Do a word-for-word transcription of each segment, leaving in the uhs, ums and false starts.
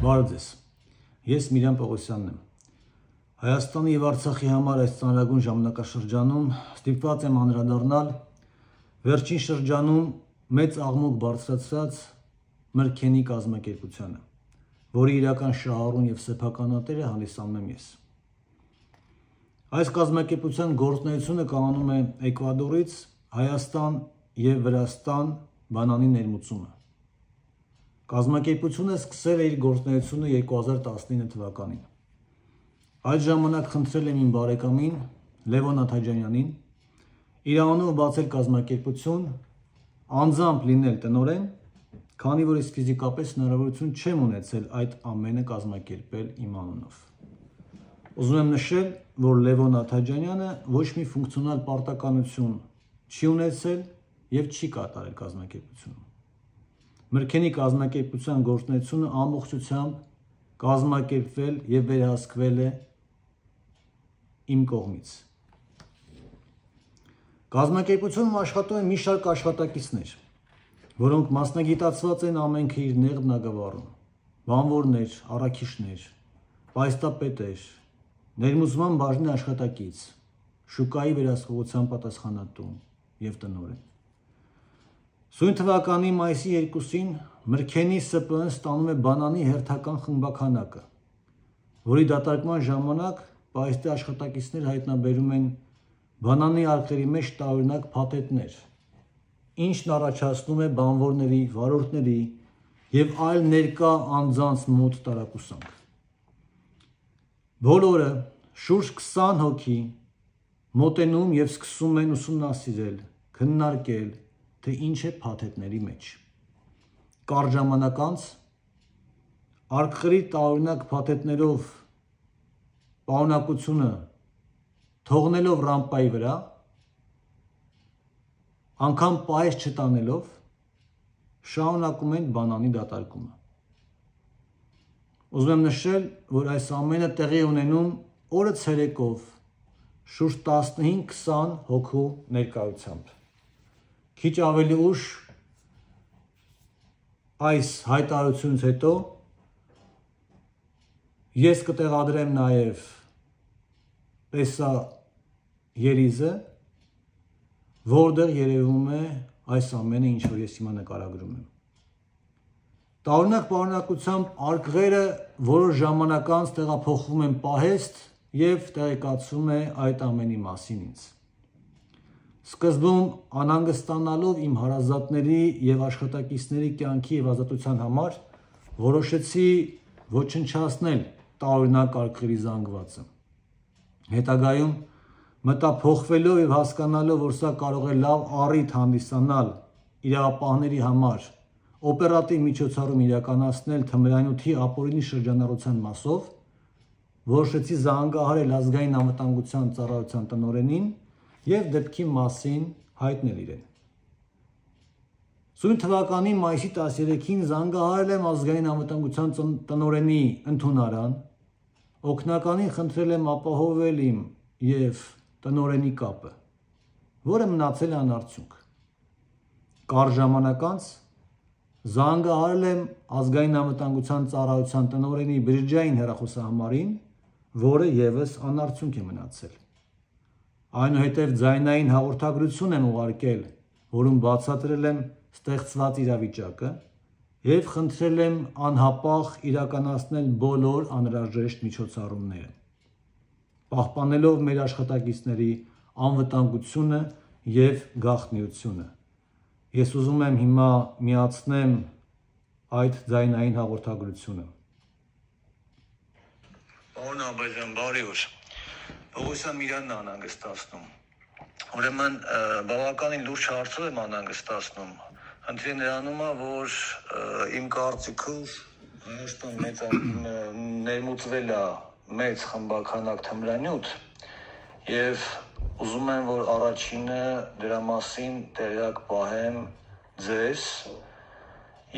Բարև ձեզ, ես Միրան Պողոսյանն եմ, Հայաստանի և Արցախի համար այս ծանրագույն ժամանակաշրջանում ստիպված եմ անդրադառնալ վերջին շրջանում մեծ աղմուկ բարձրացրած Մրգենի կազմակերպությանը, որի իրական շահառուն և սեփականատերը հանդիսանում եմ ես։ Այս կազմակերպության գործունեությունը կայանում է Էկվադորից Հայաստան և Վրաստան բանանի ներմուծումը։ Կազմակերպությունը սկսել է իր գործունեությունը երկու հազար տասնինը թվականին։ Այդ ժամանակ խնդրել եմ իմ բարեկամին Լևոն Աթաջանյանին իր անունով բացել կազմակերպություն, անձամբ լինել տնօրեն, քանի որ ես ֆիզիկապես հնարավորություն չեմ ունեցել այդ ամենը կազմակերպել իմ անունով։ Ուզում եմ նշել, որ Լևոն Աթաջանյանը ոչ մի ֆունկցիոնալ պարտականություն չի ունեցել և չի կատարել կազմակերպությունում։ Մրգենի կազմակերպության գործունեությունը ամբողջությամբ կազմակերպվել և վերահսկվել է իմ կողմից։ Կազմակերպությունում աշխատում են մի շարք աշխատակիցներ, որոնք մասնագիտացված են ամենքը իր նեղ բնագավառում, բանվորներ, առաքիչներ, պայստապետեր, ներմուծման բաժնի աշխատակից, շուկայի վերահսկողության պատասխանատու և տնօրեն։ Սույն թվականի մայիսի երկուսին Մրգենի Ս ՊԸ Ն ստանում է բանանի հերթական խմբաքանակը, որի դատարկման ժամանակ պահեստի աշխատակիցները հայտնաբերում են բանանի արկղերի մեջ տարօրինակ փաթեթներ, ինչն առաջացնում է բանվորների, վարորդների և այլ ներկա անձանց մոտ տարակուսանք։ Բոլորը, շուրջ քսան հոգի, մոտենում և սկսում են ուսումնասիրել, քննարկել, թե ինչ է փաթեթների մեջ։ Կարճ ժամանակ անց արկղերի տարօրինակ փաթեթներով պարունակությունը թողնելով ռամպայի վրա, անգամ պահեստ չտանելով, շարունակում են բանանի դատարկումը։ Ուզում եմ նշել, որ այս ամենը տեղի է ունենում օրը ցերեկով շուրջ տասնհինգ քսան հոգու ներկայությամբ։ Քիչ ավելի ուշ այս հայտարարությունից հետո ես կտեղադրեմ նաև տեսաերիզը, որտեղ երևում է այս ամենը, ինչ որ ես հիմա նկարագրում եմ։ Տարօրինակ պարունակությամբ արկղերը որոշ ժամանակ անց տեղափոխվում են պահեստ և տեղեկացվում է այդ ամենի մասին ինձ։ Սկզբում անհանգստանալով իմ հարազատների և աշխատակիցների կյանքի և ազատության համար որոշեցի ոչնչացնել տարօրինակ արկղերի զանգվածը։ Հետագայում մտափոխվելով և հասկանալով, որ սա կարող է լավ առիթ հանդիսանալ իրավապահների համար օպերատիվ միջոցառում իրականացնել թմրանյութի ապօրինի շրջանառության մասով, որոշեցի զանգահարել Ազգային անվտանգության ծառայության տնօրենին և դեպքի մասին հայտնել իրեն։ Սույն թվականի մայիսի տասներեքին զանգահարել եմ Ազգային անվտանգության տնօրենի ընդունարան, օգնականին խնդրել եմ ապահովել իմ և տնօրենի կապը, որը մնացել է անարդյունք։ Կարճ ժամանակ անց զանգահարել եմ Ազգային անվտանգության ծառայության տնօրենի բջջային հեռախոսահամարին, որը ևս անարդյունք է մնացել։ Այնուհետև ձայնային հաղորդագրություն եմ ուղարկել, որում բացատրել եմ ստեղծված իրավիճակը և խնդրել եմ անհապաղ իրականացնել բոլոր անհրաժեշտ միջոցառումները, պահպանելով մեր աշխատակիցների անվտանգությունը և գաղտնիությունը։ Ես ուզում եմ հիմա միացնեմ այդ ձայնային հաղորդագրությունը։ Պարոն Աբազյան, բարի օր։ Պողոսյան Միրանն է անհանգստացնում։ Ուրեմն բավականին լուրջ հարցով եմ անհանգստացնում։ Խնդիրը նրանում է, որ իմ կարծիքով Հայաստան մեծ ներմուծվել է մեծ խմբաքանակ թմրանյութ և ուզում եմ, որ առաջինը դրա մասին տեղյակ պահեմ ձեզ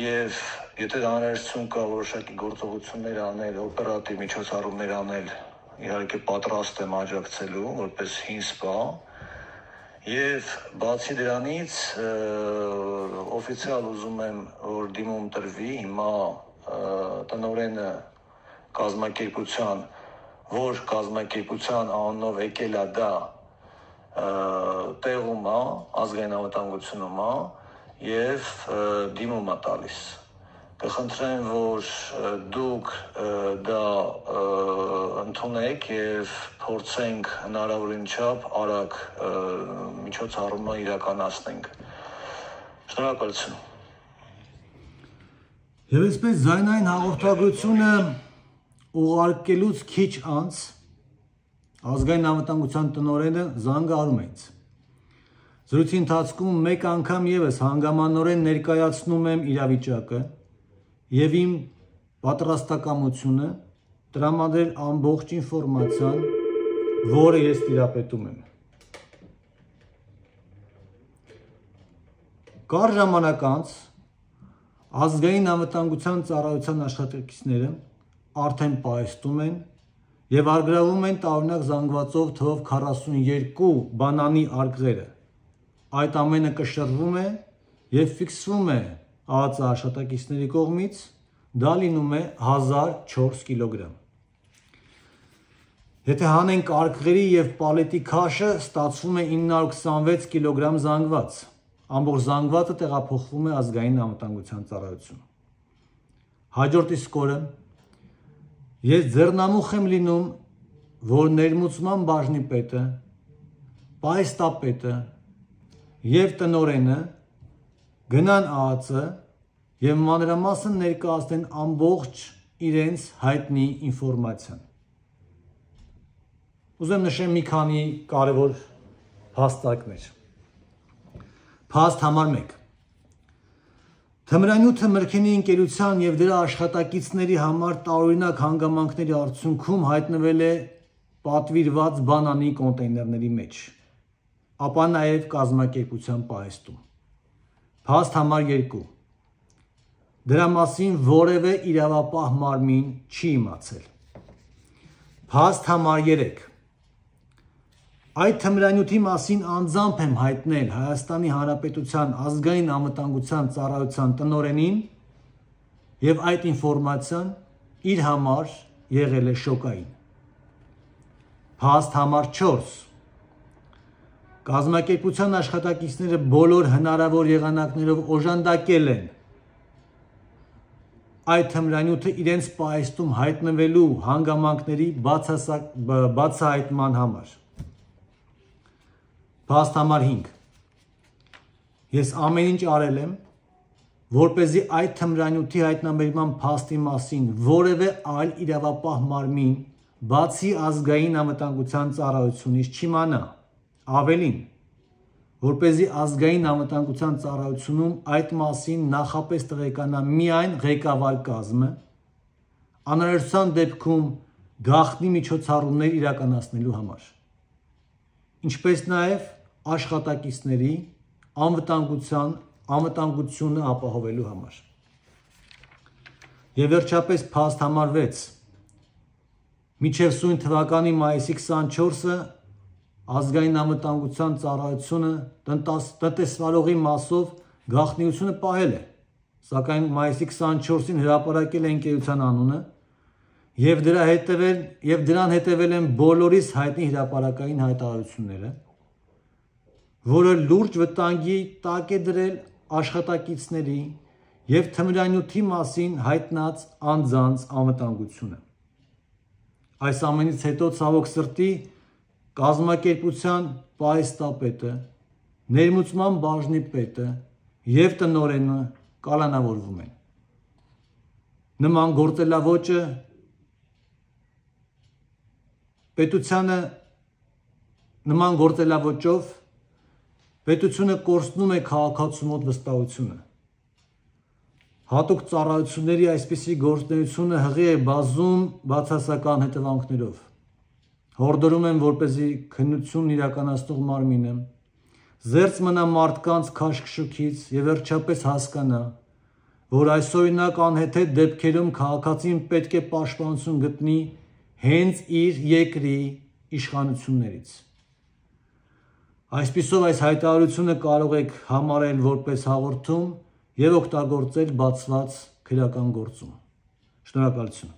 և եթե անհրաժեշտություն կա որոշակի գործողություններ անել, օպերատիվ միջոցառումներ անել, իհարկե պատրաստ եմ աջակցելու որպես հին սպա և բացի դրանից օֆիցիալ ուզում եմ, որ դիմում տրվի հիմա տնօրենը կազմակերպության, որ կազմակերպության անունով եկել է դա տեղում է, ազգային անվտանգությունում է եւ դիմում է տալիս։ Կխնդրեմ, որ դուք դա ընդունեք եւ փորձենք հնարավորին չափ արագ միջոցառումը իրականացնենք։ Շնորհակալություն։ Եվ այսպես ձայնային հաղորդագրությունը ուղարկելուց քիչ անց ազգային անվտանգության տնօրենը զանգարում է ինձ։ Զրույցի ընթացքում մեկ անգամ եւս հանգամանորեն ներկայացնում եմ իրավիճակը եւ իմ պատրաստակամությունը տրամադրել ամբողջ ինֆորմացիան, որը ես տիրապետում եմ։ Կար ժամանակ անց ազգային անվտանգության ծառայության աշխատակիցները արդեն պահեստում են եւ արգրավում են տարօրինակ զանգվածով թվով քառասունյոթ բանանի արկղերը։ Այդ ամենը կշռվում է եւ ֆիքսվում է ԱԱԾ աշխատակիցների կողմից, դա լինում է հազար չորս կիլոգրամ։ Եթե հանենք արկղերի եւ պալետի քաշը, ստացվում է ինը հարյուր քսանվեց կիլոգրամ զանգված։ Ամբողջ զանգվածը տեղափոխվում է ազգային անվտանգության ծառայություն։ Հաջորդ իսկ օրը ես ձեռնամուխ եմ լինում, որ ներմուծման բաժնի պետը, պահեստապետը եւ տնօրենը գնան ԱԱԾ եւ մանրամասն ներկայացնեն ամբողջ իրենց հայտնի ինֆորմացիան։ Ուզում եմ նշեմ մի քանի կարևոր փաստարկներ։ Փաստ համար մեկ։ Թմրանյութը Մրգենի ընկերության եւ դրա աշխատակիցների համար տարօրինակ հանգամանքների արդյունքում հայտնվել է պատվիրված բանանի կոնտեյներների մեջ, ապա նաեւ կազմակերպության պահեստում։ Փաստ համար երկու։ Դրա մասին որևէ իրավապահ մարմին չի իմացել։ Փաստ համար երեք։ Այդ թմրանյութի մասին անձամբ եմ հայտնել Հայաստանի Հանրապետության ազգային անվտանգության ծառայության տնօրենին եւ այդ ինֆորմացիան իր համար եղել է շոկային։ Փաստ համար չորս։ Կազմակերպության աշխատակիցները բոլոր հնարավոր եղանակներով օժանդակել են այդ թմրանյութը իրենց պահեստում հայտնվելու հանգամանքների բացահայտման համար։ Փաստ համար հինգ։ Ես ամեն ինչ արել եմ, որպեսզի այդ թմրանյութի հայտնաբերման փաստի մասին որևէ այլ իրավապահ մարմին, բացի ազգային անվտանգության ծառայությունից չիմանա, ավելին, որպեսզի ազգային անվտանգության ծառայությունում այդ մասին նախապես տեղեկանա միայն ղեկավար կազմը, անհրաժեշտության դեպքում գաղտնի միջոցառումներ իրականացնելու համար, ինչպես նաև աշխատակիցների անվտանգության անվտանգությունը ապահովելու համար։ Եվ վերջապես փաստ համար վեց։ Մինչև սույն թվականի մայիսի քսանչորսը ազգային անվտանգության ծառայությունը տնտեսվարողի մասով գաղտնիությունը պահել է, սակայն մայիսի քսանչորսին հրապարակել է ընկերության անունը եւ դրա հետևել եւ դրան հետևել են բոլորիս հայտնի հրապարակային հայտարարությունները, որը լուրջ վտանգի տակ է դրել աշխատակիցների եւ թմրանյութի մասին հայտնած անձանց անվտանգությունը։ Այս ամենից հետո ցավոք սրտի կազմակերպության պահեստապետը, ներմուծման բաժնի պետը եւ տնօրենը կալանավորվում են։ Նման գործելավոճը պետությանը նման գործելավոճով պետությունը կորցնում է քաղաքացու մոտ վստահությունը։ Հատուկ ծառայությունների այսպիսի գործունեությունը հղի է բազում բացասական հետևանքներով։ Հորդորում եմ, որպեսզի քննությունն իրականացնող մարմինը զերծ մնա մարդկանց քաշքշուկից եւ վերջապես հասկանա, որ այսօրինակ անհեթեթ դեպքերում քաղաքացին պետք է պաշտպանություն գտնի հենց իր երկրի իշխանություններից։ Այսպիսով այս հայտարարությունը կարող եք համարել որպես հաղորդում եւ օգտագործել բացված քրեական գործում։ Շնորհակալություն։